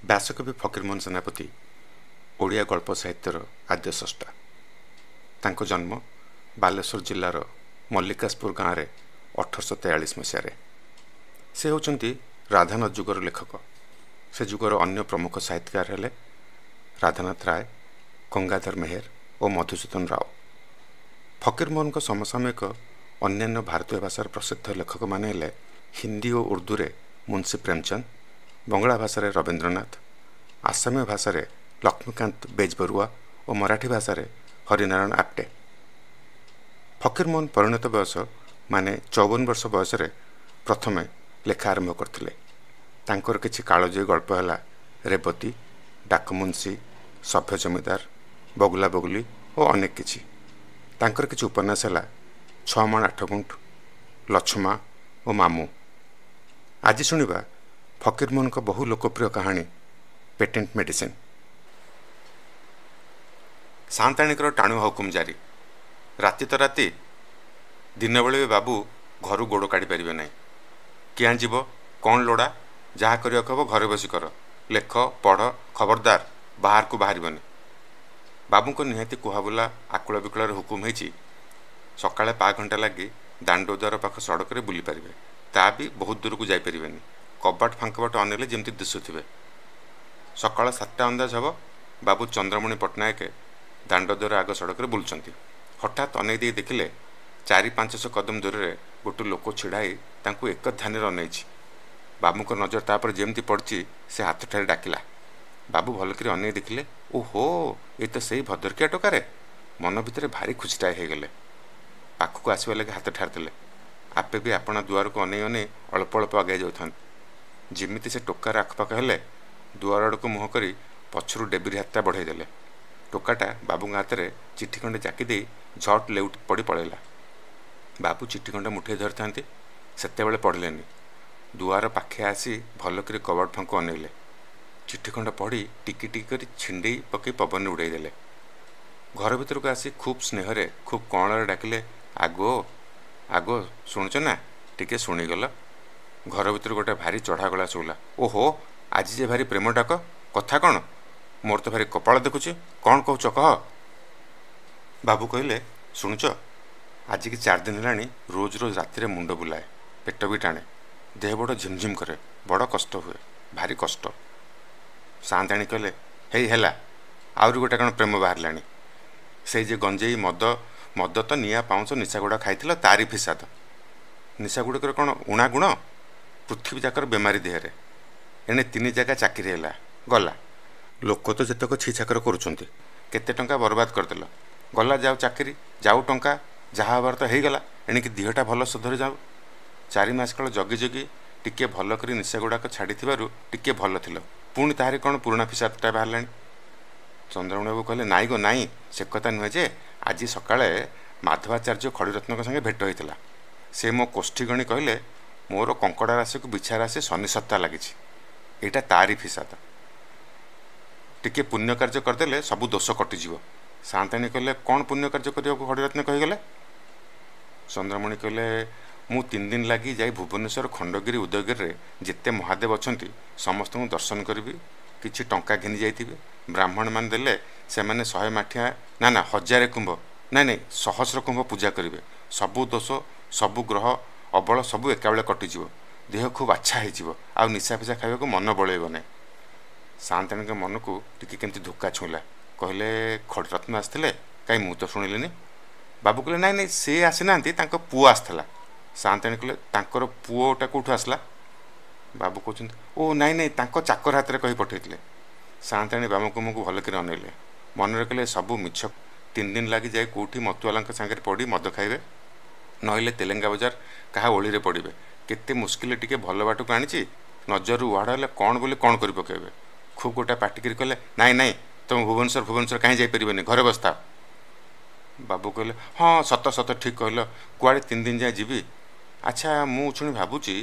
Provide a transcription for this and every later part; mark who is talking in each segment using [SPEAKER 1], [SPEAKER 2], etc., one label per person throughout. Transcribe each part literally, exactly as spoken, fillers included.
[SPEAKER 1] ବ୍ୟାସକବି ଫକୀରମୋହନ ସେନାପତି ଓଡ଼ିଆ ଗଳ୍ପ ସାହିତ୍ୟର ଆଦ୍ୟ ସ୍ରଷ୍ଟା। ତାଙ୍କ ଜନ୍ମ ବାଲେଶ୍ୱର ଜିଲ୍ଲାର ମଲ୍ଲିକାଶପୁର ଗାଁରେ ଅଠରଶହ ତେୟାଳିଶ ମସିହାରେ। ସେ ହେଉଛନ୍ତି ରାଧାନାଥ ଯୁଗର ଲେଖକ। ସେ ଯୁଗର ଅନ୍ୟ ପ୍ରମୁଖ ସାହିତ୍ୟକାର ହେଲେ ରାଧାନାଥ ରାୟ, ଗଙ୍ଗାଧର ମେହେର ଓ ମଧୁସୂଦନ ରାଓ। ଫକୀରମୋହନଙ୍କ ସମସାମୟିକ ଅନ୍ୟାନ୍ୟ ଭାରତୀୟ ଭାଷାର ପ୍ରସିଦ୍ଧ ଲେଖକମାନେ ହେଲେ ହିନ୍ଦୀ ଓ ଉର୍ଦ୍ଦୁରେ ମୁନ୍ସି ପ୍ରେମଚନ୍ଦ, ବଙ୍ଗଳା ଭାଷାରେ ରବୀନ୍ଦ୍ରନାଥ, ଆସାମୀୟ ଭାଷାରେ ଲକ୍ଷ୍ମୀକାନ୍ତ ବେଜବରୁଆ ଓ ମରାଠୀ ଭାଷାରେ ହରିନାରାୟଣ ଆପ୍ଟେ। ଫକୀରମୋହନ ପରିଣତ ବୟସ ମାନେ ଚଉବନ ବର୍ଷ ବୟସରେ ପ୍ରଥମେ ଲେଖା ଆରମ୍ଭ କରିଥିଲେ। ତାଙ୍କର କିଛି କାଳଜୟୀ ଗଳ୍ପ ହେଲା ରେବତୀ, ଡାକମୁନ୍ସି, ସଭ୍ୟ ଜମିଦାର, ବଗୁଲା ବଗୁଲି ଓ ଅନେକ କିଛି। ତାଙ୍କର କିଛି ଉପନ୍ୟାସ ହେଲା ଛଅ ମାଣ ଆଠ ଗୁଣ୍ଠ, ଲଛମା ଓ ମାମୁଁ। ଆଜି ଶୁଣିବା ଫକୀରମୋହନଙ୍କ ବହୁ ଲୋକପ୍ରିୟ କାହାଣୀ ପେଟେଣ୍ଟ ମେଡିସିନ୍। ସାଆନ୍ତାଣୀଙ୍କର ଟାଣୁଆ ହୁକୁମ ଜାରି। ରାତି ତ ରାତି, ଦିନବେଳେ ବି ବାବୁ ଘରୁ ଗୋଡ଼ କାଢ଼ି ପାରିବେ ନାହିଁ। କିଆଁ ଯିବ, କ'ଣ ଲୋଡ଼ା, ଯାହା କରିବାକୁ ହେବ ଘରେ ବସି କର, ଲେଖ, ପଢ଼, ଖବରଦାର ବାହାରକୁ ବାହାରିବନି। ବାବୁଙ୍କ ନିହାତି କୁହାବୁଲା ଆକୁଳ ବିକଳରେ ହୁକୁମ ହେଇଛି, ସକାଳେ ପା ଘଣ୍ଟା ଲାଗି ଦାଣ୍ଡ ଦ୍ୱାର ପାଖ ସଡ଼କରେ ବୁଲିପାରିବେ, ତା ବି ବହୁତ ଦୂରକୁ ଯାଇପାରିବେନି। କବାଟ ଫାଙ୍କ ବାଟ ଅନେଇଲେ ଯେମିତି ଦିଶୁଥିବେ। ସକାଳ ସାତଟା ଅନ୍ଦାଜ ହେବ, ବାବୁ ଚନ୍ଦ୍ରମଣି ପଟ୍ଟନାୟକ ଦାଣ୍ଡ ଦ୍ୱାର ଆଗ ସଡ଼କରେ ବୁଲୁଛନ୍ତି। ହଠାତ୍ ଅନେଇ ଦେଇ ଦେଖିଲେ ଚାରି ପାଞ୍ଚଶହ କଦମ ଦୂରରେ ଗୋଟେ ଲୋକ ଛିଡ଼ା ହେଇ ତାଙ୍କୁ ଏକ ଧ୍ୟାନରେ ଅନେଇଛି। ବାବୁଙ୍କ ନଜର ତାପରେ ଯେମିତି ପଡ଼ିଛି, ସେ ହାତ ଠାରି ଡାକିଲା। ବାବୁ ଭଲକରି ଅନେଇ ଦେଖିଲେ, ଓହୋ, ଏ ତ ସେଇ ଭଦ୍ରକିଆ ଟୋକାରେ। ମନ ଭିତରେ ଭାରି ଖୁସିଟାଏ ହେଇଗଲେ। ପାଖକୁ ଆସିବା ଲାଗି ହାତ ଠାରିଦେଲେ। ଆପେ ବି ଆପଣା ଦୁଆରକୁ ଅନେଇ ଅନେଇ ଅଳ୍ପ ଅଳ୍ପ ଆଗେଇ ଯାଉଥାନ୍ତି। ଯେମିତି ସେ ଟୋକାର ଆଖପାଖ ହେଲେ, ଦୁଆର ଆଡ଼କୁ ମୁହଁ କରି ପଛରୁ ଡେବିରି ହାତଟା ବଢ଼େଇ ଦେଲେ। ଟୋକାଟା ବାବୁଙ୍କ ହାତରେ ଚିଠି ଖଣ୍ଡେ ଜାକି ଦେଇ ଝଟ୍ ଲେଉଟି ପଡ଼ି ପଳେଇଲା। ବାବୁ ଚିଠି ଖଣ୍ଡେ ମୁଠେଇ ଧରିଥାନ୍ତି, ସେତେବେଳେ ପଢ଼ିଲେନି। ଦୁଆର ପାଖେ ଆସି ଭଲକରି କବାଟ ଫାଙ୍କୁ ଅନେଇଲେ। ଚିଠି ଖଣ୍ଡ ପଢ଼ି ଟିକି ଟିକି କରି ଛିଣ୍ଡେଇ ପକେଇ ପବନରେ ଉଡ଼େଇ ଦେଲେ। ଘର ଭିତରକୁ ଆସି ଖୁବ୍ ସ୍ନେହରେ ଖୁବ୍ କଅଁଳରେ ଡାକିଲେ, ଆଗୋ ଆଗୋ, ଶୁଣୁଛ ନା, ଟିକେ ଶୁଣିଗଲ। ଘର ଭିତରୁ ଗୋଟେ ଭାରି ଚଢ଼ା ଗଳା ଶୁଭିଲା, ଓହୋ, ଆଜି ଯେ ଭାରି ପ୍ରେମ ଡାକ, କଥା କ'ଣ? ମୋର ତ ଭାରି କପାଳ ଦେଖୁଛି, କ'ଣ କହୁଛ କହ। ବାବୁ କହିଲେ, ଶୁଣୁଛ, ଆଜିକି ଚାରି ଦିନ ହେଲାଣି ରୋଜ ରୋଜ ରାତିରେ ମୁଣ୍ଡ ବୁଲାଏ, ପେଟ ବି ଟାଣେ, ଦେହ ବଡ଼ ଝିମଝିମ କରେ, ବଡ଼ କଷ୍ଟ ହୁଏ, ଭାରି କଷ୍ଟ। ସାଆନ୍ତାଣୀ କହିଲେ, ହେଇ ହେଲା, ଆହୁରି ଗୋଟେ କ'ଣ ପ୍ରେମ ବାହାରିଲାଣି। ସେଇ ଯେ ଗଞ୍ଜେଇ ମଦ, ମଦ ତ ନିଆଁ ପାଉଁଶ ନିଶାଗୁଡ଼ା ଖାଇଥିଲ, ତାରି ଫିସାଦ। ନିଶାଗୁଡ଼ିକର କ'ଣ ଉଣା ଗୁଣ? ପୃଥିବୀ ଯାକର ବେମାରୀ ଦେହରେ। ଏଣେ ତିନି ଜାଗା ଚାକିରି ହେଲା, ଗଲା। ଲୋକ ତ ଯେତେକ ଛି ଛାକର କରୁଛନ୍ତି, କେତେ ଟଙ୍କା ବରବାଦ କରିଦେଲ। ଗଲା ଯାଉ ଚାକିରି, ଯାଉ ଟଙ୍କା, ଯାହା ହେବାର ତ ହେଇଗଲା, ଏଣିକି ଦେହଟା ଭଲ ସୁଧରି ଯାଉ। ଚାରି ମାସ କାଳ ଜଗି ଜଗି ଟିକିଏ ଭଲ କରି ନିଶାଗୁଡ଼ାକ ଛାଡ଼ିଥିବାରୁ ଟିକିଏ ଭଲ ଥିଲ, ପୁଣି ତାହାରି କ'ଣ ପୁରୁଣା ଫିସାଦଟା ବାହାରିଲାଣି। ଚନ୍ଦ୍ରମଣି ବାବୁ କହିଲେ, ନାଇଁ ଗୋ ନାଇଁ, ସେ କଥା ନୁହେଁ ଯେ, ଆଜି ସକାଳେ ମାଧବାଚାର୍ଯ୍ୟ ଖଡ଼ିରତ୍ନଙ୍କ ସାଙ୍ଗେ ଭେଟ ହୋଇଥିଲା। ସେ ମୋ କୋଷ୍ଠୀ ଗଣି କହିଲେ, ମୋର କଙ୍କଡ଼ା ରାଶିକୁ ବିଛା ରାଶି ଶନି ସତ୍ତା ଲାଗିଛି, ଏଇଟା ତାରି ଫିସାଦ। ଟିକିଏ ପୁଣ୍ୟ କାର୍ଯ୍ୟ କରିଦେଲେ ସବୁ ଦୋଷ କଟିଯିବ। ସାଆନ୍ତାଣୀ କହିଲେ, କ'ଣ ପୁଣ୍ୟ କାର୍ଯ୍ୟ କରିବାକୁ ଖଡ଼ିରତ୍ନ କହିଗଲେ? ଚନ୍ଦ୍ରମଣି କହିଲେ, ମୁଁ ତିନି ଦିନ ଲାଗି ଯାଇ ଭୁବନେଶ୍ୱର ଖଣ୍ଡଗିରି ଉଦୟଗିରିରେ ଯେତେ ମହାଦେବ ଅଛନ୍ତି ସମସ୍ତଙ୍କୁ ଦର୍ଶନ କରିବି। କିଛି ଟଙ୍କା ଘେନି ଯାଇଥିବି। ବ୍ରାହ୍ମଣମାନେ ଦେଲେ ସେମାନେ ଶହେ ମାଠିଆ, ନା ନା ହଜାରେ କୁମ୍ଭ, ନାଇଁ ନାଇଁ ସହସ୍ର କୁମ୍ଭ ପୂଜା କରିବେ। ସବୁ ଦୋଷ, ସବୁ ଗ୍ରହ ଅବଳ ସବୁ ଏକାବେଳେ କଟିଯିବ। ଦେହ ଖୁବ୍ ଆଚ୍ଛା ହେଇଯିବ, ଆଉ ନିଶା ଫିସା ଖାଇବାକୁ ମନ ବଳେଇବ ନାହିଁ। ସାଆନ୍ତାଣୀଙ୍କ ମନକୁ ଟିକେ କେମିତି ଧୋକା ଛୁଇଁଲା। କହିଲେ, ଖଡ଼ିରତ୍ନ ଆସିଥିଲେ? କାହିଁ ମୁଁ ତ ଶୁଣିଲିନି। ବାବୁ କହିଲେ, ନାଇଁ ନାଇଁ, ସେ ଆସିନାହାନ୍ତି, ତାଙ୍କ ପୁଅ ଆସିଥିଲା। ସାଆନ୍ତାଣୀ କହିଲେ, ତାଙ୍କର ପୁଅଟା କେଉଁଠୁ ଆସିଲା? ବାବୁ କହୁଛନ୍ତି, ଓ ନାଇଁ ନାଇଁ, ତାଙ୍କ ଚାକର ହାତରେ କହି ପଠେଇଥିଲେ। ସାଆନ୍ତାଣୀ ବାବୁଙ୍କୁ ମୁହଁକୁ ଭଲକରି ଅନେଇଲେ। ମନରେ କହିଲେ, ସବୁ ମିଛ। ତିନି ଦିନ ଲାଗି ଯାଇ କେଉଁଠି ମତୁଆଲାଙ୍କ ସାଙ୍ଗରେ ପଡ଼ି ମଦ ଖାଇବେ, ନହେଲେ ତେଲେଙ୍ଗା ବଜାର କାହା ଓଳିରେ ପଡ଼ିବେ। କେତେ ମୁସ୍କିଲରେ ଟିକେ ଭଲ ବାଟକୁ ଆଣିଛି, ନଜରରୁ ଉହାଡ଼ ହେଲେ କ'ଣ ବୋଲି କ'ଣ କରି ପକାଇବେ। ଖୁବ୍ ଗୋଟା ପାଟିକରି କହିଲେ, ନାଇଁ ନାଇଁ, ତୁମେ ଭୁବନେଶ୍ୱର ଭୁବନେଶ୍ୱର କାହିଁ ଯାଇପାରିବନି, ଘରେ ବସିଥାଅ। ବାବୁ କହିଲେ, ହଁ ସତ ସତ, ଠିକ୍ କହିଲ, କୁଆଡ଼େ ତିନି ଦିନ ଯାଏଁ ଯିବି? ଆଚ୍ଛା, ମୁଁ ଶୁଣି ଭାବୁଛି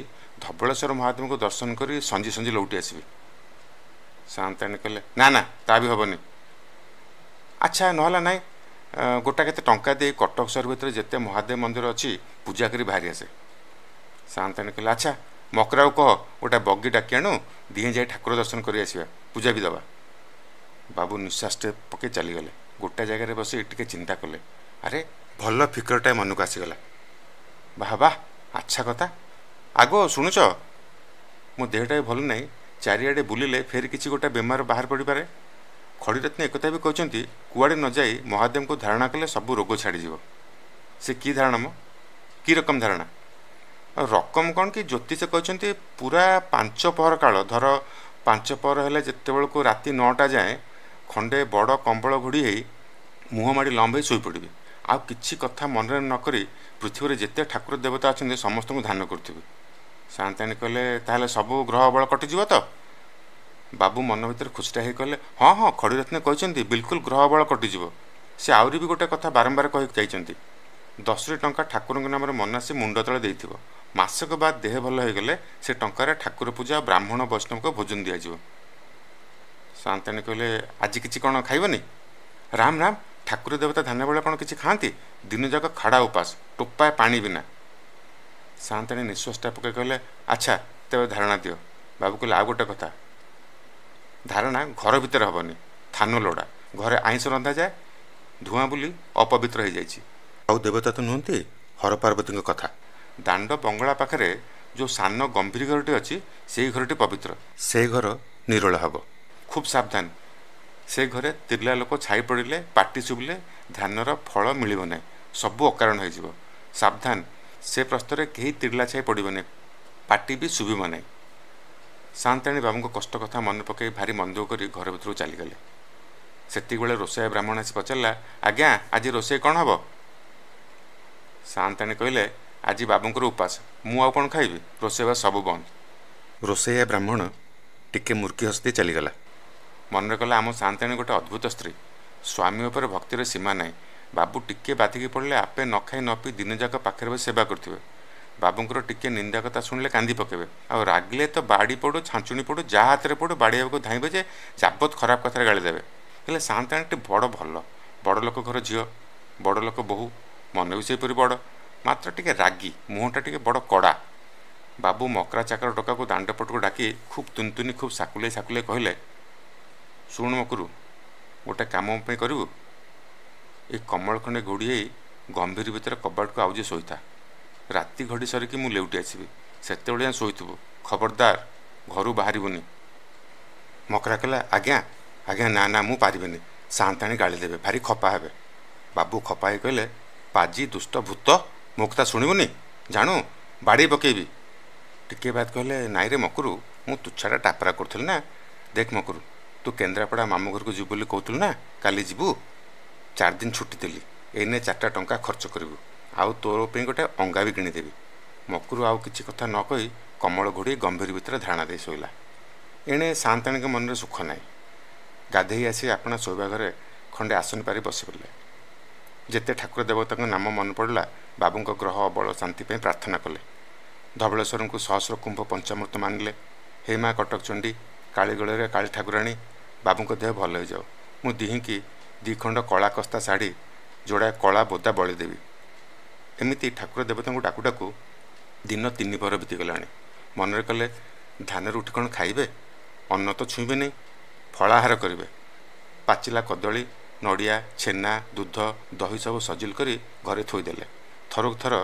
[SPEAKER 1] ଧବଳେଶ୍ୱର ମହାଦେବଙ୍କୁ ଦର୍ଶନ କରି ସଞ୍ଜି ସଞ୍ଜି ଲଉଟି ଆସିବି। ସାଆନ୍ତାଣୀ କହିଲେ, ନା ନା, ତା ବି ହେବନି। ଆଚ୍ଛା, ନହେଲା ନାଇଁ, ଗୋଟା କେତେ ଟଙ୍କା ଦେଇ କଟକ ସହର ଭିତରେ ଯେତେ ମହାଦେବ ମନ୍ଦିର ଅଛି ପୂଜା କରି ବାହାରି ଆସେ। ସାଆନ୍ତାଣୀ କହିଲେ, ଆଚ୍ଛା, ମକରାକୁ କହ ଗୋଟା ବଗି ଡାକି ଆଣୁ, ଦିହେଁ ଯାଇ ଠାକୁର ଦର୍ଶନ କରି ଆସିବା, ପୂଜା ବି ଦେବା। ବାବୁ ନିଶ୍ୱାସଟେ ପକେଇ ଚାଲିଗଲେ। ଗୋଟା ଜାଗାରେ ବସି ଟିକେ ଚିନ୍ତା କଲେ। ଆରେ ଭଲ ଫିକରଟାଏ ମନକୁ ଆସିଗଲା। ବାହା ବାଃ, ଆଚ୍ଛା କଥା। ଆଗୋ ଶୁଣୁଛ, ମୋ ଦେହଟା ବି ଭଲ ନାହିଁ, ଚାରିଆଡ଼େ ବୁଲିଲେ ଫେର କିଛି ଗୋଟେ ବେମାର ବାହାର ପଡ଼ିପାରେ। ଖଡ଼ିରତ୍ନ ଏକଥା ବି କହିଛନ୍ତି, କୁଆଡ଼େ ନ ଯାଇ ମହାଦେବଙ୍କୁ ଧାରଣା କଲେ ସବୁ ରୋଗ ଛାଡ଼ିଯିବ। ସେ କି ଧାରଣା ମ? କି ରକମ ଧାରଣା? ରକମ କ'ଣ କି, ଜ୍ୟୋତିଷ କହିଛନ୍ତି ପୁରା ପାଞ୍ଚ ପହର କାଳ, ଧର ପାଞ୍ଚ ପହର ହେଲେ ଯେତେବେଳକୁ ରାତି ନଅଟା ଯାଏଁ ଖଣ୍ଡେ ବଡ଼ କମ୍ବଳ ଘୋଡ଼ି ହେଇ ମୁହଁ ମାଡ଼ି ଲମ୍ବ ହେଇ ଶୋଇପଡ଼ିବି। ଆଉ କିଛି କଥା ମନରେ ନ କରି ପୃଥିବୀରେ ଯେତେ ଠାକୁର ଦେବତା ଅଛନ୍ତି ସମସ୍ତଙ୍କୁ ଧ୍ୟାନ କରୁଥିବି। ସାଆନ୍ତାଣୀ କହିଲେ, ତାହେଲେ ସବୁ ଗ୍ରହ ବଳ କଟିଯିବ ତ? ବାବୁ ମନ ଭିତରେ ଖୁସିଟା ହେଇ କହିଲେ, ହଁ ହଁ, ଖଡ଼ିରତ୍ନ କହିଛନ୍ତି ବିଲକୁଲ ଗ୍ରହ ବଳ କଟିଯିବ। ସେ ଆହୁରି ବି ଗୋଟେ କଥା ବାରମ୍ବାର କହି ଯାଇଛନ୍ତି, ଦଶଟି ଟଙ୍କା ଠାକୁରଙ୍କ ନାମରେ ମନାସି ମୁଣ୍ଡ ତଳେ ଦେଇଥିବ, ମାସକ ବାଦ ଦେହ ଭଲ ହୋଇଗଲେ ସେ ଟଙ୍କାରେ ଠାକୁର ପୂଜା ଆଉ ବ୍ରାହ୍ମଣ ବୈଷ୍ଣବଙ୍କ ଭୋଜନ ଦିଆଯିବ। ସାଆନ୍ତାଣୀ କହିଲେ, ଆଜି କିଛି କ'ଣ ଖାଇବନି? ରାମ ରାମ, ଠାକୁର ଦେବତା ଧାନ ବେଳେ କ'ଣ କିଛି ଖାଆନ୍ତି? ଦିନଯାକ ଖାଡ଼ା ଉପାସ, ଟୋପାଏ ପାଣି ବିନା। ସାଆନ୍ତାଣୀ ନିଶ୍ୱାସଟା ପକାଇ କହିଲେ, ଆଚ୍ଛା ତେବେ ଧାରଣା ଦିଅ। ବାବୁ କହିଲେ, ଆଉ ଗୋଟେ କଥା, ଧାରଣା ଘର ଭିତରେ ହେବନି, ଥାନ ଲୋଡ଼ା। ଘରେ ଆଇଁଷ ରନ୍ଧାଯାଏ, ଧୂଆଁ ବୁଲି ଅପବିତ୍ର ହେଇଯାଇଛି। ଆଉ ଦେବତା ତ ନୁହନ୍ତି, ହର ପାର୍ବତୀଙ୍କ କଥା। ଦାଣ୍ଡ ବଙ୍ଗଳା ପାଖରେ ଯେଉଁ ସାନ ଗମ୍ଭୀର ଘରଟି ଅଛି, ସେଇ ଘରଟି ପବିତ୍ର, ସେ ଘର ନିରୋଳା ହେବ। ଖୁବ୍ ସାବଧାନ, ସେ ଘରେ ତିର୍ଲା ଲୋକ ଛାଇ ପଡ଼ିଲେ, ପାଟି ଶୁଭିଲେ ଧାନର ଫଳ ମିଳିବ ନାହିଁ, ସବୁ ଅକାରଣ ହେଇଯିବ। ସାବଧାନ, ସେ ପ୍ରସ୍ତରେ କେହି ତିର୍ଲା ଛାଇ ପଡ଼ିବନି, ପାଟି ବି ଶୁଭିବ ନାହିଁ। ସାଆନ୍ତାଣୀ ବାବୁଙ୍କ କଷ୍ଟ କଥା ମନେ ପକାଇ ଭାରି ମନ ଦୁଃଖ କରି ଘର ଭିତରକୁ ଚାଲିଗଲେ। ସେତିକିବେଳେ ରୋଷେଇଆ ବ୍ରାହ୍ମଣ ଆସି ପଚାରିଲା, ଆଜ୍ଞା ଆଜି ରୋଷେଇ କ'ଣ ହେବ? ସାଆନ୍ତାଣୀ କହିଲେ, ଆଜି ବାବୁଙ୍କର ଉପାସ, ମୁଁ ଆଉ କ'ଣ ଖାଇବି, ରୋଷେଇବା ସବୁ ବନ୍ଦ। ରୋଷେଇଆ ବ୍ରାହ୍ମଣ ଟିକେ ମୁର୍କି ହସି ଦେଇ ଚାଲିଗଲା। ମନରେ କଲା, ଆମ ସାଆନ୍ତାଣୀ ଗୋଟେ ଅଦ୍ଭୁତ ସ୍ତ୍ରୀ, ସ୍ୱାମୀ ଉପରେ ଭକ୍ତିର ସୀମା ନାହିଁ। ବାବୁ ଟିକେ ବାଧିକି ପଡ଼ିଲେ ଆପେ ନ ଖାଇ ନ ପିଇ ଦିନଯାକ ପାଖରେ ବସି ସେବା କରୁଥିବେ। ବାବୁଙ୍କର ଟିକେ ନିନ୍ଦା କଥା ଶୁଣିଲେ କାନ୍ଦି ପକାଇବେ, ଆଉ ରାଗିଲେ ତ ବାଡ଼ି ପଡ଼ୁ ଛାଞ୍ଚୁଣି ପଡ଼ୁ ଯାହା ହାତରେ ପଡ଼ୁ ବାଡ଼ିବାକୁ ଧାଇଁବେ ଯେ ଯାବତ ଖରାପ କଥାରେ ଗାଳି ଦେବେ। ହେଲେ ସାଆନ୍ତାଣୀଟି ବଡ଼ ଭଲ, ବଡ଼ ଲୋକ ଘର ଝିଅ, ବଡ଼ ଲୋକ ବୋହୂ, ମନ ବି ସେହିପରି ବଡ଼, ମାତ୍ର ଟିକେ ରାଗି, ମୁହଁଟା ଟିକେ ବଡ଼ କଡ଼ା। ବାବୁ ମକରା ଚାକର ଟୋକାକୁ ଦାଣ୍ଡ ପଟକୁ ଡାକି ଖୁବ୍ ତୁନତୁନି ଖୁବ୍ ସାକୁଲେଇ ସାକୁଲେଇ କହିଲେ, ଶୁଣୁ ମକୁରୁ, ଗୋଟେ କାମ ମୋ ପାଇଁ କରିବୁ? ଏ କମଳ ଖଣ୍ଡେ ଘୋଡ଼ି ହେଇ ଗମ୍ଭୀର ଭିତରେ କବାଟକୁ ଆଉଜି ଶୋଇଥା। ରାତି ଘଡ଼ି ସରିକି ମୁଁ ଲେଉଟି ଆସିବି, ସେତେବେଳେ ଯାଏଁ ଶୋଇଥିବୁ, ଖବରଦାର ଘରୁ ବାହାରିବୁନି। ମକରା କହିଲା, ଆଜ୍ଞା ଆଜ୍ଞା, ନା ନା ମୁଁ ପାରିବିନି, ସାଆନ୍ତାଣୀ ଗାଳି ଦେବେ, ଭାରି ଖପା ହେବେ। ବାବୁ ଖପା ହେଇ କହିଲେ, ପାଜି ଦୁଷ୍ଟ ଭୂତ, ମୋ କଥା ଶୁଣିବୁନି? ଜାଣୁ ବାଡ଼େଇ ପକେଇବି। ଟିକିଏ ବାଦ କହିଲେ, ନାଇଁରେ ମକୁରୁ, ମୁଁ ତୁଚ୍ଛାଟା ଟାପରା କରୁଥିଲି ନା। ଦେଖ ମକୁରୁ, ତୁ କେନ୍ଦ୍ରାପଡ଼ା ମାମୁଁ ଘରକୁ ଯିବୁ ବୋଲି କହୁଥିଲୁ ନା, କାଲି ଯିବୁ? ଚାରି ଦିନ ଛୁଟି ଦେଲି, ଏଇନେ ଚାରିଟା ଟଙ୍କା ଖର୍ଚ୍ଚ କରିବୁ, ଆଉ ତୋର ପାଇଁ ଗୋଟେ ଅଙ୍ଗା ବି କିଣିଦେବି। ମକୁରୁ ଆଉ କିଛି କଥା ନ କହି କମଳ ଘୋଡ଼ି ଗମ୍ଭୀର ଭିତରେ ଧାରଣା ଦେଇ ଶୋଇଲା। ଏଣେ ସାଆନ୍ତାଣୀଙ୍କ ମନରେ ସୁଖ ନାହିଁ। ଗାଧେଇ ଆସି ଆପଣା ଶୋଇବା ଘରେ ଖଣ୍ଡେ ଆସନ ପାରି ବସି ପଡ଼ିଲେ। ଯେତେ ଠାକୁର ଦେବତାଙ୍କ ନାମ ମନେ ପଡ଼ିଲା, ବାବୁଙ୍କ ଗ୍ରହ ଅବଳ ଶାନ୍ତି ପାଇଁ ପ୍ରାର୍ଥନା କଲେ। ଧବଳେଶ୍ୱରଙ୍କୁ ସହସ୍ର କୁମ୍ଭ ପଞ୍ଚାମୃତ ମାନିଲେ। ହେ ମା କଟକ ଚଣ୍ଡୀ, କାଳୀଗୋଳରେ କାଳୀ ଠାକୁରାଣୀ, ବାବୁଙ୍କ ଦେହ ଭଲ ହେଇଯାଉ। ମୁଁ ଦିହିଁକି ଦୁଇ ଖଣ୍ଡ କଳା କସ୍ତା ଶାଢ଼ୀ, ଯୋଡ଼ାଏ କଳା ବୋଦା ବଳି ଦେବି। ଏମିତି ଠାକୁର ଦେବତାଙ୍କୁ ଡାକୁ ଡାକୁ ଦିନ ତିନି ପହର ବିତିଗଲାଣି। ମନରେ କଲେ, ଧାନରୁ ଉଠି କ'ଣ ଖାଇବେ? ଅନ୍ନ ତ ଛୁଇଁବେ ନାହିଁ, ଫଳାହାର କରିବେ। ପାଚିଲା କଦଳୀ, ନଡ଼ିଆ, ଛେନା, ଦୁଧ, ଦହି ସବୁ ସଜିଲ କରି ଘରେ ଥୋଇଦେଲେ। ଥରକୁ ଥର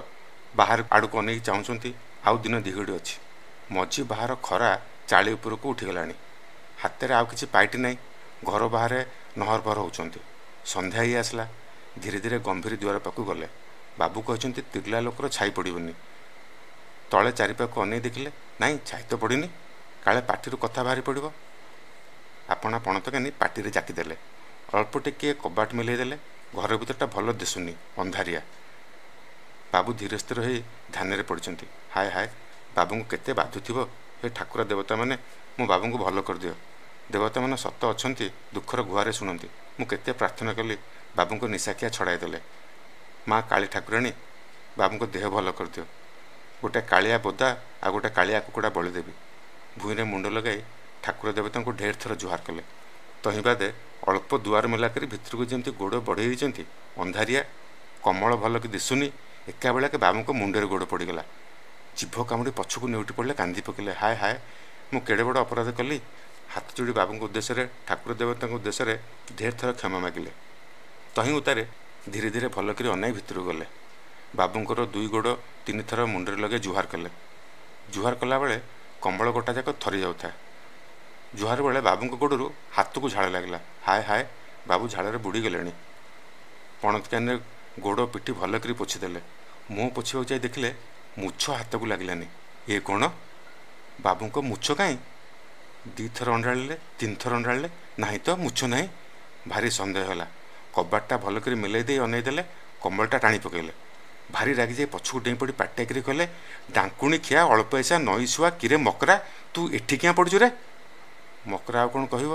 [SPEAKER 1] ବାହାର ଆଡ଼କୁ ଅନେଇକି ଚାହୁଁଛନ୍ତି, ଆଉ ଦିନ ଦିଘଡ଼ି ଅଛି। ମଝି ବାହାର ଖରା ଚାଳି ଉପରକୁ ଉଠିଗଲାଣି। ହାତରେ ଆଉ କିଛି ପାଇଟି ନାହିଁ। ଘର ବାହାରେ ନହର ପହର ହେଉଛନ୍ତି। ସନ୍ଧ୍ୟା ହେଇ ଆସିଲା। ଧୀରେ ଧୀରେ ଗମ୍ଭୀର ଦୁଆର ପାଖକୁ ଗଲେ। ବାବୁ କହିଛନ୍ତି ତିର୍ଲା ଲୋକର ଛାଇ ପଡ଼ିବନି। ତଳେ ଚାରିପାଖକୁ ଅନେଇ ଦେଖିଲେ, ନାଇଁ ଛାଇ ତ ପଡ଼ିନି, କାଳେ ପାଟିରୁ କଥା ବାହାରି ପଡ଼ିବ। ଆପଣା ପଣତ କାନି ପାଟିରେ ଜାକିଦେଲେ। ଅଳ୍ପ ଟିକିଏ କବାଟ ମିଲେଇ ଦେଲେ। ଘର ଭିତରଟା ଭଲ ଦିଶୁନି, ଅନ୍ଧାରିଆ। ବାବୁ ଧୀରେ ସ୍ଥିର ହେଇ ଧ୍ୟାନରେ ପଡ଼ିଛନ୍ତି। ହାୟ ହାୟ, ବାବୁଙ୍କୁ କେତେ ବାଧୁଥିବ। ହେ ଠାକୁର ଦେବତାମାନେ, ମୋ ବାବୁଙ୍କୁ ଭଲ କରିଦିଅ। ଦେବତାମାନେ ସତ ଅଛନ୍ତି, ଦୁଃଖର ଗୁହାରେ ଶୁଣନ୍ତି। ମୁଁ କେତେ ପ୍ରାର୍ଥନା କଲି, ବାବୁଙ୍କ ନିଶାଖିଆ ଛଡ଼ାଇ ଦେଲେ। ମା କାଳୀ ଠାକୁରାଣୀ, ବାବୁଙ୍କ ଦେହ ଭଲ କରିଦିଅ। ଗୋଟେ କାଳିଆ ବୋଦା ଆଉ ଗୋଟେ କାଳିଆ କୁକୁଡ଼ା ବଳି ଦେବି। ଭୂଇଁରେ ମୁଣ୍ଡ ଲଗାଇ ଠାକୁର ଦେବତାଙ୍କୁ ଢେର ଥର ଜୁହାର କଲେ। ତହିଁ ବାଦେ ଅଳ୍ପ ଦୁଆର ମେଲା କରି ଭିତରକୁ ଯେମିତି ଗୋଡ଼ ବଢ଼େଇ ଦେଇଛନ୍ତି, ଅନ୍ଧାରିଆ, କମଳ ଭଲକି ଦିଶୁନି, ଏକାବେଳକେ ବାବୁଙ୍କ ମୁଣ୍ଡରେ ଗୋଡ଼ ପଡ଼ିଗଲା। ଜିଭ କାମୁଡ଼ି ପଛକୁ ନେଉଟି ପଡ଼ିଲେ, କାନ୍ଦି ପକେଇଲେ, ହାୟ ହାୟ, ମୁଁ କେଡ଼େ ବଡ଼ ଅପରାଧ କଲି। ହାତ ଯୋଡ଼ି ବାବୁଙ୍କ ଉଦ୍ଦେଶ୍ୟରେ, ଠାକୁର ଦେବତାଙ୍କ ଉଦ୍ଦେଶ୍ୟରେ ଢେର ଥର କ୍ଷମା ମାଗିଲେ। ତହିଁ ଉତ୍ତାରେ ଧୀରେ ଧୀରେ ଭଲ କରି ଅନାଇ ଭିତରକୁ ଗଲେ। ବାବୁଙ୍କର ଦୁଇ ଗୋଡ଼ ତିନି ଥର ମୁଣ୍ଡରେ ଲଗାଇ ଜୁହାର କଲେ। ଜୁହାର କଲାବେଳେ କମ୍ବଳ ଗୋଟା ଯାକ ଥରି ଯାଉଥାଏ। ଜୁହାର ବେଳେ ବାବୁଙ୍କ ଗୋଡ଼ରୁ ହାତକୁ ଝାଳ ଲାଗିଲା। ହାୟ ହାୟ, ବାବୁ ଝାଳରେ ବୁଡ଼ିଗଲେଣି। ପଣତକାନିରେ ଗୋଡ଼ ପିଠି ଭଲ କରି ପୋଛିଦେଲେ। ମୁହଁ ପୋଛିବାକୁ ଯାଇ ଦେଖିଲେ ମୁଛ ହାତକୁ ଲାଗିଲାନି। ଏ କ'ଣ, ବାବୁଙ୍କ ମୁଛ କାହିଁ? ଦୁଇଥର ଅଣ୍ଡାଳିଲେ, ତିନିଥର ଅଣ୍ଡାଳିଲେ, ନାହିଁ ତ ମୁଛ ନାହିଁ। ଭାରି ସନ୍ଦେହ ହେଲା। କବାଟଟା ଭଲ କରି ମେଲେଇ ଦେଇ ଅନେଇ ଦେଲେ, କମ୍ବଳଟା ଟାଣି ପକାଇଲେ। ଭାରି ରାଗିଯାଇ ପଛକୁ ଡେଇଁ ପଡ଼ି ପାଟିଆ କରି କହିଲେ, ଡାଙ୍କୁଣି ଖିଆ ଅଳ୍ପ ପଇସା ନଈ ଶୁଆ କିରେ ମକରା, ତୁ ଏଠି କିଆଁ ପଡ଼ୁଛୁ ରେ? ମକରା ଆଉ କ'ଣ କହିବ?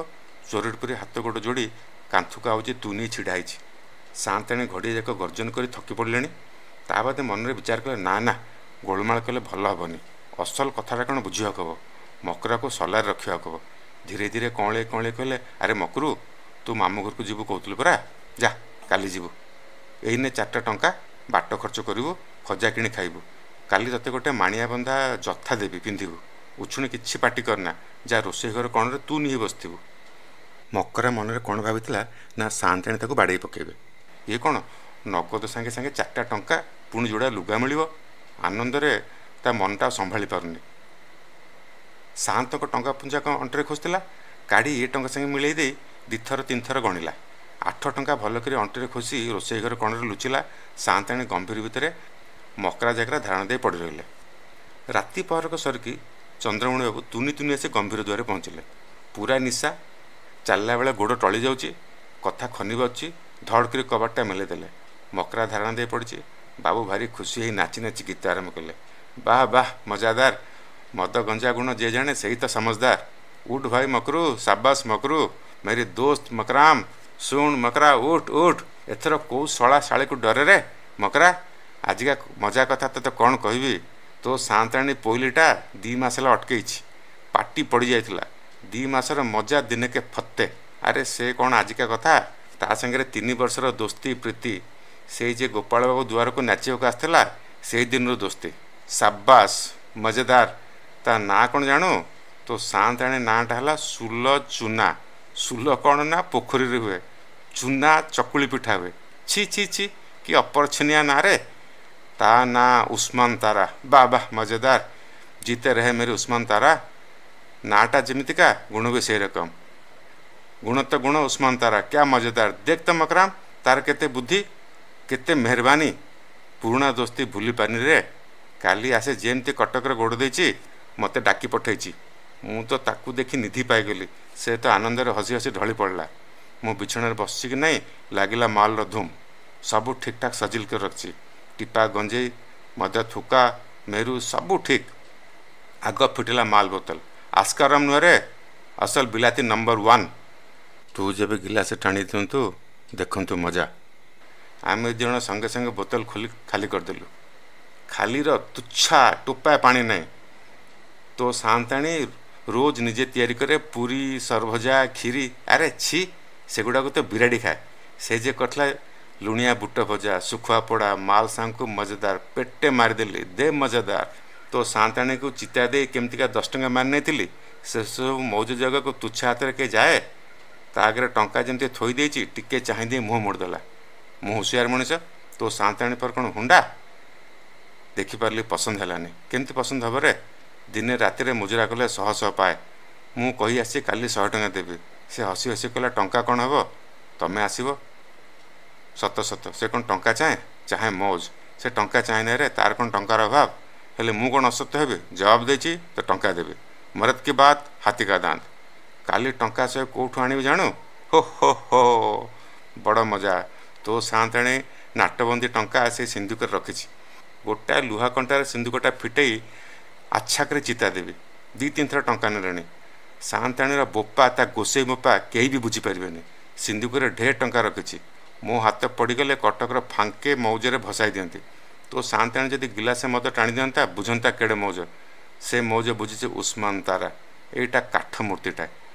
[SPEAKER 1] ଚୋରଟି ପରି ହାତ ଗୋଡ଼ ଯୋଡ଼ି କାନ୍ଥକୁ ଆଉଜି ତୁନି ଛିଡ଼ା ହେଇଛି। ସାଆନ୍ତାଣୀ ଘଡ଼ିଏ ଯାକ ଗର୍ଜନ କରି ଥକି ପଡ଼ିଲେଣି। ତା ବାଦେ ମନରେ ବିଚାର କଲେ, ନା ନା, ଗୋଳମାଳ କଲେ ଭଲ ହେବନି। ଅସଲ କଥାଟା କ'ଣ ବୁଝିବାକୁ ହେବ, ମକରାକୁ ସଲାରେ ରଖିବାକୁ ହେବ। ଧୀରେ ଧୀରେ କଅଁଳେଇ କଅଁଳେଇ କହିଲେ, ଆରେ ମକରୁ, ତୁ ମାମୁଁ ଘରକୁ ଯିବୁ କହୁଥିଲୁ ପରା, ଯା କାଲି ଯିବୁ। ଏଇନେ ଚାରିଟା ଟଙ୍କା ବାଟ ଖର୍ଚ୍ଚ କରିବୁ, ଖଜା କିଣି ଖାଇବୁ। କାଲି ତୋତେ ଗୋଟେ ମାଣିଆ ବନ୍ଧା ଯଥା ଦେବି, ପିନ୍ଧିବୁ। ଉଛୁଣି କିଛି ପାଟି କରନା, ଯା ରୋଷେଇ ଘର କଣରେ ତୁ ନିହି ବସିଥିବୁ। ମକରା ମନରେ କ'ଣ ଭାବିଥିଲା ନା ସାଆନ୍ତାଣୀ ତାକୁ ବାଡ଼େଇ ପକାଇବେ। ଇଏ କ'ଣ, ନଗଦ ସାଙ୍ଗେ ସାଙ୍ଗେ ଚାରିଟା ଟଙ୍କା, ପୁଣି ଯୋଡ଼ା ଲୁଗା ମିଳିବ। ଆନନ୍ଦରେ ତା ମନଟା ସମ୍ଭାଳି ପାରୁନି। ସାଆନ୍ତଙ୍କ ଟଙ୍କା ପୁଞ୍ଜା କ'ଣ ଅଣ୍ଟିରେ ଖୋସିଥିଲା, କାଢ଼ି ଏ ଟଙ୍କା ସାଙ୍ଗେ ମିଳେଇ ଦେଇ ଦୁଇଥର ତିନିଥର ଗଣିଲା। ଆଠ ଟଙ୍କା ଭଲ କରି ଅଣ୍ଟିରେ ଖୋସି ରୋଷେଇ ଘର କଣରେ ଲୁଚିଲା। ସାଆନ୍ତାଣୀ ଗମ୍ଭୀର ଭିତରେ ମକରା ଜାଗରା ଧାରଣା ଦେଇ ପଡ଼ି ରହିଲେ। ରାତି ପହରକ ସରିକି ଚନ୍ଦ୍ରମଣି ବାବୁ ତୁନି ତୁନି ଆସି ଗମ୍ଭୀର ଦୁଆରେ ପହଞ୍ଚିଲେ। ପୁରା ନିଶା, ଚାଲିଲା ବେଳେ ଗୋଡ଼ ଟଳି ଯାଉଛି, କଥା ଖନି ବାଜୁଛି। ଧଡ଼ କରି କବାଟଟା ମେଲେଇ ଦେଲେ। ମକରା ଧାରଣା ଦେଇ ପଡ଼ିଛି। ବାବୁ ଭାରି ଖୁସି ହେଇ ନାଚି ନାଚି ଗୀତ ଆରମ୍ଭ କଲେ। ବାহ ବାହ, ମଜାଦାର, ମଦ ଗଞ୍ଜା ଗୁଣ ଯିଏ ଜାଣେ ସେଇ ତ ସମଜଦାର। ଉଠ ଭାଇ ମକରୁ, ସାବାସ ମକରୁ, ମେରି ଦୋସ୍ତ ମକରାମ, ଶୁଣ ମକରା, ଉଠ ଉଠ। ଏଥର କେଉଁ ଶଳା ଶାଳୀକୁ ଡରେ ରେ ମକରା? ଆଜିକା ମଜା କଥା ତୋତେ କ'ଣ କହିବି। ତୋ ସାଆନ୍ତାଣୀ ପୋଇଲିଟା ଦୁଇ ମାସ ହେଲା ଅଟକେଇଛି, ପାଟି ପଡ଼ିଯାଇଥିଲା। ଦୁଇ ମାସର ମଜା ଦିନକେ ଫତେ। ଆରେ ସେ କ'ଣ ଆଜିକା କଥା, ତା ସାଙ୍ଗରେ ତିନି ବର୍ଷର ଦୋସ୍ତି ପ୍ରୀତି। ସେଇ ଯେ ଗୋପାଳ ବାବୁ ଦୁଆରକୁ ନାଚିବାକୁ ଆସିଥିଲା, ସେଇ ଦିନରୁ ଦୋସ୍ତି। ସାବାସ, ମଜେଦାର। ତା ନାଁ କ'ଣ ଜାଣୁ? ତୋ ସାଆନ୍ତାଣୀ ନାଁଟା ହେଲା ସୁଲ ଚୁନା। ସୁଲ କ'ଣ ନା ପୋଖରୀରେ ହୁଏ, ଚୁନା ଚକୁଳି ପିଠା ହୁଏ। ଛି ଛି ଛି, କି ଅପରଛନିଆ ନାଁରେ। ତା ନାଁ ଉସ୍ମାନ ତାରା। ବା ବାহ, ମଜେଦାର, ଜିତେ ରହେ ମେରି ଉସ୍ମାନ ତାରା। ନାଁଟା ଯେମିତିକା, ଗୁଣ ବି ସେଇ ରକମ। ଗୁଣ ତ ଗୁଣ ଉସ୍ମାନ ତାରା, କ୍ୟା ମଜେଦାର। ଦେଖ ତ ମକରାମ, ତାର କେତେ ବୁଦ୍ଧି, କେତେ ମେହରବାନୀ। ପୁରୁଣା ଦୋସ୍ତି ଭୁଲି ପାରିନି ରେ। କାଲି ଆସେ ଯେମିତି କଟକରେ ଗୋଡ଼ ଦେଇଛି, ମୋତେ ଡାକି ପଠେଇଛି। ମୁଁ ତ ତାକୁ ଦେଖି ନିଧି ପାଇଗଲି। ସେ ତ ଆନନ୍ଦରେ ହସି ହସି ଢଳି ପଡ଼ିଲା। ମୁଁ ବିଛଣାରେ ବସିଛି କି ନାହିଁ, ଲାଗିଲା ମାଲର ଧୁମ୍। ସବୁ ଠିକ୍ଠାକ୍ ସଜିଲ କରି ରଖିଛି। ଟିପା ଗଞ୍ଜେଇ, ମଦ ଥୁକା, ମେରୁ ସବୁ ଠିକ୍। ଆଗ ଫିଟିଲା ମାଲ ବୋତଲ। ଆସ୍କାରମ ନୁହେଁ ରେ, ଅସଲ ବିଲାତି ନମ୍ବର ୱାନ୍। ତୁ ଯେବେ ଗିଲାସ ଟାଣି ଦିଅନ୍ତୁ, ଦେଖନ୍ତୁ ମଜା। ଆମେ ଦୁଇ ଜଣ ସଙ୍ଗେ ସଙ୍ଗେ ବୋତଲ ଖୋଲି ଖାଲି କରିଦେଲୁ। ଖାଲିର ତୁଚ୍ଛା ଟୋପାଏ ପାଣି ନାହିଁ। ତୋ ସାଆନ୍ତାଣୀ ରୋଜ ନିଜେ ତିଆରି କରେ ପୁରୀ, ସରଭଜା, କ୍ଷୀରି। ଆରେ ଛି, ସେଗୁଡ଼ାକୁ ତ ବିରାଡ଼ି ଖାଏ। ସେ ଯେ କରିଥିଲା ଲୁଣିଆ ବୁଟ ଭଜା, ଶୁଖୁଆ ପୋଡ଼ା, ମାଲ ସାଙ୍ଗକୁ ମଜେଦାର। ପେଟେ ମାରିଦେଲି, ଦେ ମଜେଦାର। ତୋ ସାଆନ୍ତାଣୀକୁ ଚିତା ଦେଇ କେମିତିକା ଦଶ ଟଙ୍କା ମାରି ନେଇଥିଲି। ସେସବୁ ମୌଜ ଜାଗାକୁ ତୁଚ୍ଛା ହାତରେ କିଏ ଯାଏ? ତା ଆଗରେ ଟଙ୍କା ଯେମିତି ଥୋଇ ଦେଇଛି, ଟିକେ ଚାହିଁ ଦେଇ ମୁହଁ ମୋଡ଼ିଦେଲା। ମୁଁ ହୁସିଆର ମଣିଷ, ତୋ ସାଆନ୍ତାଣୀ ପରେ କ'ଣ ହୁଣ୍ଡା? ଦେଖିପାରିଲି ପସନ୍ଦ ହେଲାନି। କେମିତି ପସନ୍ଦ ହେବ ରେ? ଦିନେ ରାତିରେ ମୁଜୁରା କଲେ ଶହ ଶହ ପାଏ। ମୁଁ କହି ଆସିଛି କାଲି ଶହେ ଟଙ୍କା ଦେବି। ସେ ହସି ହସି କହିଲା, ଟଙ୍କା କ'ଣ ହେବ, ତମେ ଆସିବ। ସତ ସତ, ସେ କ'ଣ ଟଙ୍କା ଚାହେଁ? ଚାହେଁ ମୌଜ। ସେ ଟଙ୍କା ଚାହେଁ ନାଇଁ ରେ, ତାର କ'ଣ ଟଙ୍କାର ଅଭାବ? ହେଲେ ମୁଁ କ'ଣ ଅସତ୍ୟ ହେବି? ଜବାବ ଦେଇଛି ତ ଟଙ୍କା ଦେବି। ମରଦ କି ବାତ ହାତୀ କା ଦାନ୍ତ। କାଲି ଟଙ୍କା ସେ କେଉଁଠୁ ଆଣିବି ଜାଣୁ? ହୋ ହୋ ହୋ, ବଡ଼ ମଜା। ତୋ ସାଆନ୍ତାଣୀ ନାଟବନ୍ଦୀ ଟଙ୍କା ସେ ସିନ୍ଧୁକରେ ରଖିଛି। ଗୋଟାଏ ଲୁହା କଣ୍ଟାରେ ସିନ୍ଧୁକଟା ଫିଟେଇ ଆଚ୍ଛାକରେ ଚିତା ଦେବି। ଦୁଇ ତିନି ଥର ଟଙ୍କା ନେଲେଣି। ସାଆନ୍ତାଣୀର ବୋପା, ତା ଗୋସେଇ ବୋପା କେହି ବି ବୁଝିପାରିବେନି। ସିନ୍ଧୁକରେ ଢେର ଟଙ୍କା ରଖିଛି। ମୋ ହାତ ପଡ଼ିଗଲେ କଟକର ଫାଙ୍କେ ମୌଜରେ ଭସାଇ ଦିଅନ୍ତି। ତୋ ସାଆନ୍ତାଣୀ ଯଦି ଗିଲାସେ ମଦ ଟାଣି ଦିଅନ୍ତା, ବୁଝନ୍ତା କେଡ଼େ ମୌଜ। ସେ ମୌଜ ବୁଝିଛି ଉସ୍ମାନ ତାରା। ଏଇଟା କାଠ ମୂର୍ତ୍ତିଟା।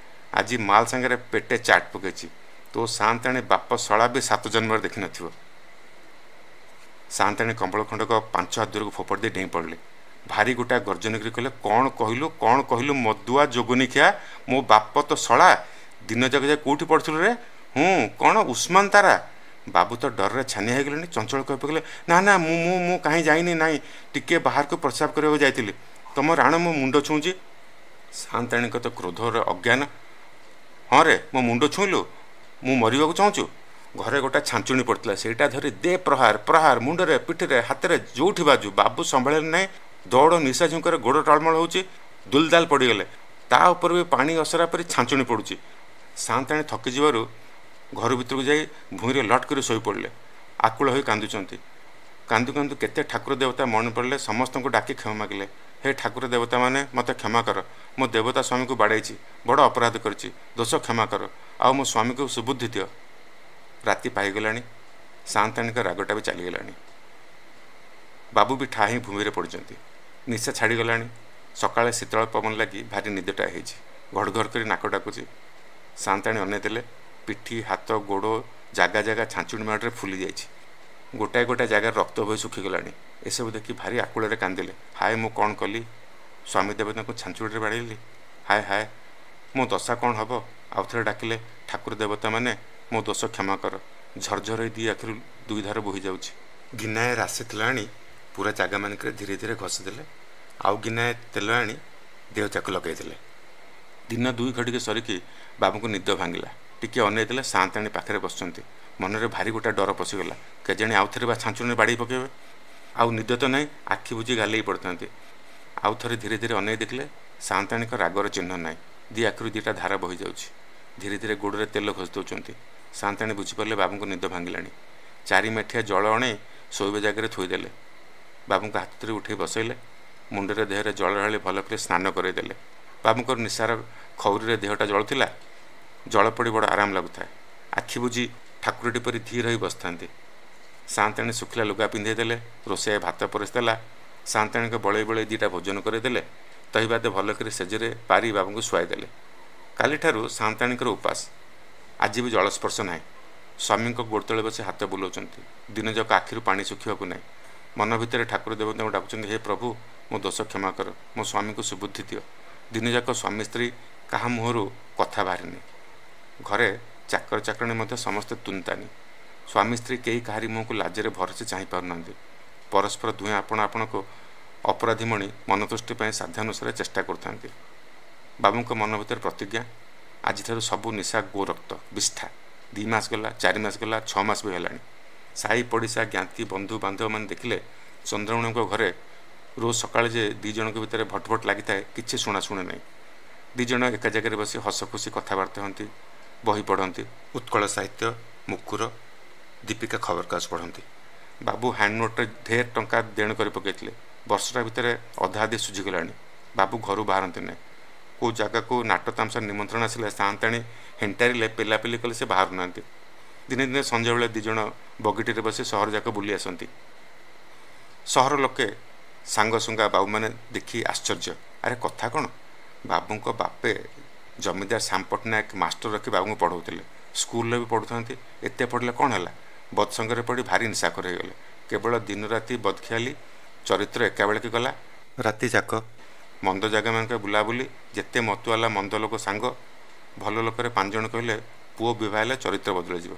[SPEAKER 1] ଆଜି ମାଲ ସାଙ୍ଗରେ ପେଟେ ଚାଟ୍ ପକେଇଛି। ତୋ ସାଆନ୍ତାଣୀ ବାପ ଶଳା ବି ସାତ ଜନ୍ମରେ ଦେଖିନଥିବ। ସାଆନ୍ତାଣୀ କମ୍ବଳ ଖଣ୍ଡକ ପାଞ୍ଚ ହାତ ଦୂରକୁ ଫୋପାଡ଼ି ଦେଇ ଡେଇଁ ପଡ଼ିଲି। ଭାରି ଗୋଟା ଗର୍ଜନ କରି କହିଲେ, କ'ଣ କହିଲୁ, କ'ଣ କହିଲୁ ମଦୁଆ ଯୋଗନିଖିଆ, ମୋ ବାପ ତ ଶଳା, ଦିନ ଯାକ ଯାଏ କେଉଁଠି ପଢ଼ୁଥିଲୁ ରେ? ହୁଁ, କ'ଣ ଉସ୍ମାନ ତାରା? ବାବୁ ତ ଡରରେ ଛାନିଆ ହେଇଗଲେଣି। ଚଞ୍ଚଳ କହି ପକେଇଲେ, ନା ନା, ମୁଁ ମୁଁ ମୁଁ କାହିଁ ଯାଇନି, ନାହିଁ, ଟିକିଏ ବାହାରକୁ ପ୍ରସ୍ରାବ କରିବାକୁ ଯାଇଥିଲି। ତମ ରାଣ ମୋ ମୁଣ୍ଡ ଛୁଉଁଛି। ସାଆନ୍ତାଣୀଙ୍କ ତ କ୍ରୋଧରେ ଅଜ୍ଞାନ। ହଁ ରେ, ମୋ ମୁଣ୍ଡ ଛୁଇଁଲୁ? ମୁଁ ମରିବାକୁ ଚାହୁଁଛୁ? ଘରେ ଗୋଟା ଛାଞ୍ଚୁଣି ପଡ଼ିଥିଲା, ସେଇଟା ଧରି ଦେ ପ୍ରହାର ପ୍ରହାର, ମୁଣ୍ଡରେ, ପିଠିରେ, ହାତରେ, ଯେଉଁଠି ବାଜୁ। ବାବୁ ସମ୍ଭାଳିଲେ ନାହିଁ। ଦୌଡ଼ ନିଶା ଝୁଙ୍କରେ ଗୋଡ଼ ଟଳମଳ ହେଉଛି, ଦୁଲଦାଲ ପଡ଼ିଗଲେ। ତା ଉପରେ ବି ପାଣି ଅସରା ପରି ଛାଞ୍ଚୁଣି ପଡ଼ୁଛି। ସାଆନ୍ତାଣୀ ଥକିଯିବାରୁ ଘର ଭିତରକୁ ଯାଇ ଭୂଇଁରେ ଲଟ୍ କରି ଶୋଇପଡ଼ିଲେ। ଆକୁଳ ହୋଇ କାନ୍ଦୁଛନ୍ତି। କାନ୍ଦୁ କାନ୍ଦୁ କେତେ ଠାକୁର ଦେବତା ମନେ ପଡ଼ିଲେ, ସମସ୍ତଙ୍କୁ ଡାକି କ୍ଷମା ମାଗିଲେ। ହେ ଠାକୁର ଦେବତାମାନେ, ମୋତେ କ୍ଷମା କର। ମୋ ଦେବତା ସ୍ୱାମୀକୁ ବାଡ଼େଇଛି, ବଡ଼ ଅପରାଧ କରିଛି, ଦୋଷ କ୍ଷମା କର, ଆଉ ମୋ ସ୍ୱାମୀକୁ ସୁବୁଦ୍ଧି ଦିଅ। ରାତି ପାଇଗଲାଣି, ସାଆନ୍ତାଣୀଙ୍କ ରାଗଟା ବି ଚାଲିଗଲାଣି। ବାବୁ ବି ଠା ହିଁ ଭୂମିରେ ପଡ଼ିଛନ୍ତି। ନିଶା ଛାଡ଼ିଗଲାଣି। ସକାଳେ ଶୀତଳ ପବନ ଲାଗି ଭାରି ନିଦଟା ହେଇଛି। ଘଡ଼ ଘଡ଼ କରି ନାକ ଡାକୁଛି। ସାଆନ୍ତାଣୀ ଅନେଇ ଦେଲେ, ପିଠି, ହାତ, ଗୋଡ଼ ଜାଗା ଜାଗା ଛାଞ୍ଚୁଣି ମାଡ଼ରେ ଫୁଲି ଯାଇଛି। ଗୋଟାଏ ଗୋଟାଏ ଜାଗାରେ ରକ୍ତ ବୋହି ଶୁଖିଗଲାଣି। ଏସବୁ ଦେଖି ଭାରି ଆକୁଳରେ କାନ୍ଦିଲେ। ହାୟ, ମୁଁ କ'ଣ କଲି? ସ୍ୱାମୀ ଦେବତାଙ୍କୁ ଛାଞ୍ଚୁଣିରେ ବାଡ଼େଇଲି। ହାୟ ହାୟ, ମୋ ଦଶା କ'ଣ ହେବ? ଆଉ ଥରେ ଡାକିଲେ, ଠାକୁର ଦେବତାମାନେ, ମୋ ଦୋଷ କ୍ଷମା କର। ଝରଝର ହେଇ ଦୁଇ ଆଖିରୁ ଦୁଇ ଧାର ବୋହି ଯାଉଛି। ଗିନାଏ ରାଶି ତେଲ ଆଣି ପୁରା ଜାଗାମାନଙ୍କରେ ଧୀରେ ଧୀରେ ଘଷିଦେଲେ। ଆଉ ଗିନାଏ ତେଲ ଆଣି ଦେହ ଯାକ ଲଗାଇଦେଲେ। ଦିନ ଦୁଇ ଘଡ଼ିକେ ସରିକି ବାବୁଙ୍କୁ ନିଦ ଭାଙ୍ଗିଲା। ଟିକିଏ ଅନେଇ ଦେଲେ, ସାଆନ୍ତାଣୀ ପାଖରେ ବସିଛନ୍ତି। ମନରେ ଭାରି ଗୋଟା ଡର ପଶିଗଲା। କେଜାଣି ଆଉ ଥରେ ବା ଛାଞ୍ଚୁଣିରେ ବାଡ଼େଇ ପକାଇବେ। ଆଉ ନିଦ ତ ନାହିଁ, ଆଖି ବୁଜି ଗାଲେଇ ପଡ଼ିଥାନ୍ତି। ଆଉ ଥରେ ଧୀରେ ଧୀରେ ଅନେଇ ଦେଖିଲେ, ସାଆନ୍ତାଣୀଙ୍କ ରାଗର ଚିହ୍ନ ନାହିଁ। ଦୁଇ ଆଖିରୁ ଦୁଇଟା ଧାର ବହିଯାଉଛି। ଧୀରେ ଧୀରେ ଗୋଡ଼ରେ ତେଲ ଘଷି ଦେଉଛନ୍ତି। ସାଆନ୍ତାଣୀ ବୁଝିପାରିଲେ ବାବୁଙ୍କ ନିଦ ଭାଙ୍ଗିଲାଣି। ଚାରି ମାଠିଆ ଜଳ ଅଣେଇ ଶୋଇବା ଜାଗାରେ ଥୋଇଦେଲେ। ବାବୁଙ୍କ ହାତ ଧରି ଉଠେଇ ବସେଇଲେ। ମୁଣ୍ଡରେ ଦେହରେ ଜଳ ଢାଳି ଭଲ କରି ସ୍ନାନ କରାଇଦେଲେ। ବାବୁଙ୍କର ନିଶାର ଖଉରିରେ ଦେହଟା ଜଳୁଥିଲା। ଜଳ ପଡ଼ି ବଡ଼ ଆରାମ ଲାଗୁଥାଏ। ଆଖି ବୁଜି ଠାକୁରଟି ପରି ଧୀର ହୋଇ ବସିଥାନ୍ତି। ସାଆନ୍ତାଣୀ ଶୁଖିଲା ଲୁଗା ପିନ୍ଧେଇ ଦେଲେ। ରୋଷେଇଆ ଭାତ ପରସି ଦେଲା। ସାଆନ୍ତାଣୀଙ୍କ ବଳେଇ ବଳେଇ ଦୁଇଟା ଭୋଜନ କରାଇଦେଲେ। ତହି ବାଦେ ଭଲ କରି ସେଜରେ ପାରି ବାବୁଙ୍କୁ ଶୁଆଇଦେଲେ। କାଲିଠାରୁ ସାଆନ୍ତାଣୀଙ୍କର ଉପାସ। ଆଜି ବି ଜଳସ୍ପର୍ଶ ନାହିଁ। ସ୍ୱାମୀଙ୍କ ଗୋଡ଼ ତଳେ ବସି ହାତ ବୁଲାଉଛନ୍ତି। ଦିନଯାକ ଆଖିରୁ ପାଣି ଶୁଖିବାକୁ ନାହିଁ। ମନ ଭିତରେ ଠାକୁର ଦେବତାଙ୍କୁ ଡାକୁଛନ୍ତି, ହେ ପ୍ରଭୁ, ମୋ ଦୋଷ କ୍ଷମା କର, ମୋ ସ୍ୱାମୀଙ୍କୁ ସୁବୁଦ୍ଧି ଦିଅ। ଦିନଯାକ ସ୍ୱାମୀ ସ୍ତ୍ରୀ କାହା ମୁହଁରୁ କଥା ବାହାରିନି। ଘରେ ଚାକର ଚାକରାଣୀ ମଧ୍ୟ ସମସ୍ତେ ତୁନତାନି। ସ୍ୱାମୀ ସ୍ତ୍ରୀ କେହି କାହାରି ମୁହଁକୁ ଲାଜରେ ଭରସି ଚାହିଁ ପାରୁନାହାନ୍ତି। ପରସ୍ପର ଦୁହେଁ ଆପଣ ଆପଣଙ୍କୁ ଅପରାଧୀ ମଣି ମନତୁଷ୍ଟି ପାଇଁ ସାଧ୍ୟାନୁସାରେ ଚେଷ୍ଟା କରୁଥାନ୍ତି। ବାବୁଙ୍କ ମନ ଭିତରେ ପ୍ରତିଜ୍ଞା, ଆଜିଠାରୁ ସବୁ ନିଶା ଗୋରକ୍ତ ବିଷ୍ଠା। ଦୁଇ ମାସ ଗଲା, ଚାରି ମାସ ଗଲା, ଛଅ ମାସ ବି ହେଲାଣି। ସାହି ପଡ଼ିଶା ଜ୍ଞାତି ବନ୍ଧୁ ବାନ୍ଧବମାନେ ଦେଖିଲେ ଚନ୍ଦ୍ରମଣିଙ୍କ ଘରେ ରୋଜ ସକାଳେ ଯେ ଦୁଇ ଜଣଙ୍କ ଭିତରେ ଭଟଭଟ ଲାଗିଥାଏ, କିଛି ଶୁଣାଶୁଣି ନାହିଁ। ଦୁଇ ଜଣ ଏକା ଜାଗାରେ ବସି ହସ ଖୁସି କଥାବାର୍ତ୍ତା ହୁଅନ୍ତି, ବହି ପଢ଼ନ୍ତି, ଉତ୍କଳ ସାହିତ୍ୟ, ମୁକୁର, ଦୀପିକା ଖବରକାଗଜ ପଢ଼ନ୍ତି। ବାବୁ ହ୍ୟାଣ୍ଡ ନୋଟ୍ରେ ଢେର ଟଙ୍କା ଦେଣ କରି ପକାଇଥିଲେ। ବର୍ଷଟା ଭିତରେ ଅଧା ଅଧି ସୁଝିଗଲାଣି। ବାବୁ ଘରୁ ବାହାରନ୍ତି ନାହିଁ। କେଉଁ ଜାଗାକୁ ନାଟ ତାମସା ନିମନ୍ତ୍ରଣ ଆସିଲେ ସାଆନ୍ତାଣୀ ହେଣ୍ଟାରିଲେ, ପେଲାପେଲି କଲେ ସେ ବାହାରୁନାହାନ୍ତି। ଦିନେ ଦିନେ ସଞ୍ଜବେଳେ ଦୁଇ ଜଣ ବଗିଟିରେ ବସି ସହର ଯାକ ବୁଲି ଆସନ୍ତି। ସହର ଲୋକେ ସାଙ୍ଗସୁଙ୍ଗା ବାବୁମାନେ ଦେଖି ଆଶ୍ଚର୍ଯ୍ୟ, ଆରେ କଥା କ'ଣ? ବାବୁଙ୍କ ବାପେ ଜମିଦାର ଶ୍ୟାମ ପଟ୍ଟନାୟକ ମାଷ୍ଟର ରଖି ବାବୁଙ୍କୁ ପଢ଼ଉଥିଲେ, ସ୍କୁଲରେ ବି ପଢ଼ୁଥାନ୍ତି। ଏତେ ପଢ଼ିଲେ କ'ଣ ହେଲା? ବଦସଙ୍ଗରେ ପଡ଼ି ଭାରି ନିଶାଖୋର ହେଇଗଲେ। କେବଳ ଦିନରାତି ବଦଖିଆଲି, ଚରିତ୍ର ଏକାବେଳକେ ଗଲା। ରାତି ଯାକ ମନ୍ଦ ଜାଗାମାନଙ୍କ ବୁଲାବୁଲି, ଯେତେ ମତୁଆଲା ମନ୍ଦ ଲୋକ ସାଙ୍ଗ। ଭଲ ଲୋକରେ ପାଞ୍ଚ ଜଣ କହିଲେ ପୁଅ ବିବାହ ହେଲେ ଚରିତ୍ର ବଦଳିଯିବ।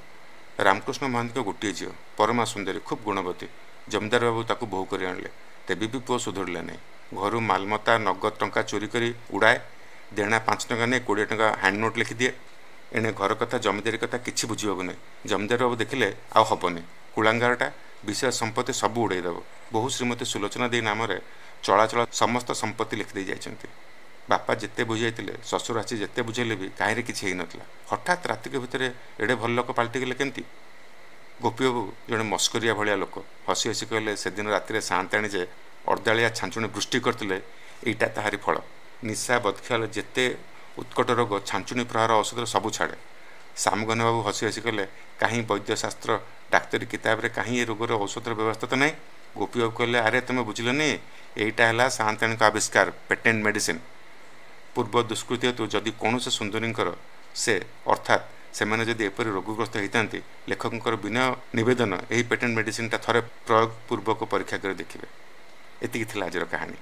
[SPEAKER 1] ରାମକୃଷ୍ଣ ମହାନ୍ତିଙ୍କ ଗୋଟିଏ ଝିଅ, ପରମା ସୁନ୍ଦରୀ, ଖୁବ୍ ଗୁଣବତୀ। ଜମିଦାର ବାବୁ ତାକୁ ବୋହୂ କରି ଆଣିଲେ। ତେବେ ବି ପୁଅ ସୁଧୁରିଲା ନାହିଁ। ଘରୁ ମାଲମତା ନଗଦ ଟଙ୍କା ଚୋରି କରି ଉଡ଼ାଏ। ଦେଣା ପାଞ୍ଚ ଟଙ୍କା ନେଇ କୋଡ଼ିଏ ଟଙ୍କା ହ୍ୟାଣ୍ଡ ନୋଟ୍ ଲେଖିଦିଏ। ଏଣେ ଘର କଥା, ଜମିଦାରୀ କଥା କିଛି ବୁଝିବାକୁ ନାହିଁ। ଜମିଦାର ବାବୁ ଦେଖିଲେ ଆଉ ହେବନି, କୁଳାଙ୍ଗାରଟା ବିଶେଷ ସମ୍ପତ୍ତି ସବୁ ଉଡ଼େଇ ଦେବ। ବହୁ ଶ୍ରୀମତୀ ସୁଲୋଚନା ଦେଇ ନାମରେ ଚଳାଚଳ ସମସ୍ତ ସମ୍ପତ୍ତି ଲେଖିଦେଇ ଯାଇଛନ୍ତି। ବାପା ଯେତେ ବୁଝାଇଥିଲେ, ଶ୍ୱଶୁର ଆସି ଯେତେ ବୁଝେଇଲେ ବି କାହିଁରେ କିଛି ହେଇନଥିଲା। ହଠାତ୍ ରାତିକ ଭିତରେ ଏଡ଼େ ଭଲ ଲୋକ ପାଲଟିଗଲେ କେମିତି? ଗୋପୀବାବୁ ଜଣେ ମସ୍କରିଆ ଭଳିଆ ଲୋକ, ହସି ହସି କହିଲେ, ସେଦିନ ରାତିରେ ସାଆନ୍ତାଣୀ ଯେ ଅର୍ଦ୍ଦାଳିଆ ଛାଞ୍ଚୁଣି ବୃଷ୍ଟି କରିଥିଲେ, ଏଇଟା ତାହାରି ଫଳ। ନିଶା ବଦଖିଆଲ ଯେତେ ଉତ୍କଟ ରୋଗ, ଛାଞ୍ଚୁଣି ପ୍ରହାର ଔଷଧରେ ସବୁ ଛାଡ଼େ। ସାମଗନ ବାବୁ ହସି ହସି କହିଲେ, କାହିଁ ବୈଦ୍ୟଶାସ୍ତ୍ର ଡାକ୍ତରୀ କିତାବରେ କାହିଁ ଏ ରୋଗର ଔଷଧର ବ୍ୟବସ୍ଥା ତ ନାହିଁ? ଗୋପୀବାବୁ କହିଲେ, ଆରେ ତୁମେ ବୁଝିଲନି, ଏଇଟା ହେଲା ସାଆନ୍ତାଣୀଙ୍କ ଆବିଷ୍କାର, ପେଟେଣ୍ଟ ମେଡ଼ିସିନ। ପୂର୍ବ ଦୁଷ୍କୃତି ହେତୁ ଯଦି କୌଣସି ସୁନ୍ଦରୀଙ୍କର ସେ ଅର୍ଥାତ୍ ସେମାନେ ଯଦି ଏପରି ରୋଗଗ୍ରସ୍ତ ହେଇଥାନ୍ତି, ଲେଖକଙ୍କର ବିନୟ ନିବେଦନ, ଏହି ପେଟେଣ୍ଟ ମେଡ଼ିସିନଟା ଥରେ ପ୍ରୟୋଗ ପୂର୍ବକ ପରୀକ୍ଷା କରି ଦେଖିବେ। ଏତିକି ଥିଲା ଆଜିର କାହାଣୀ।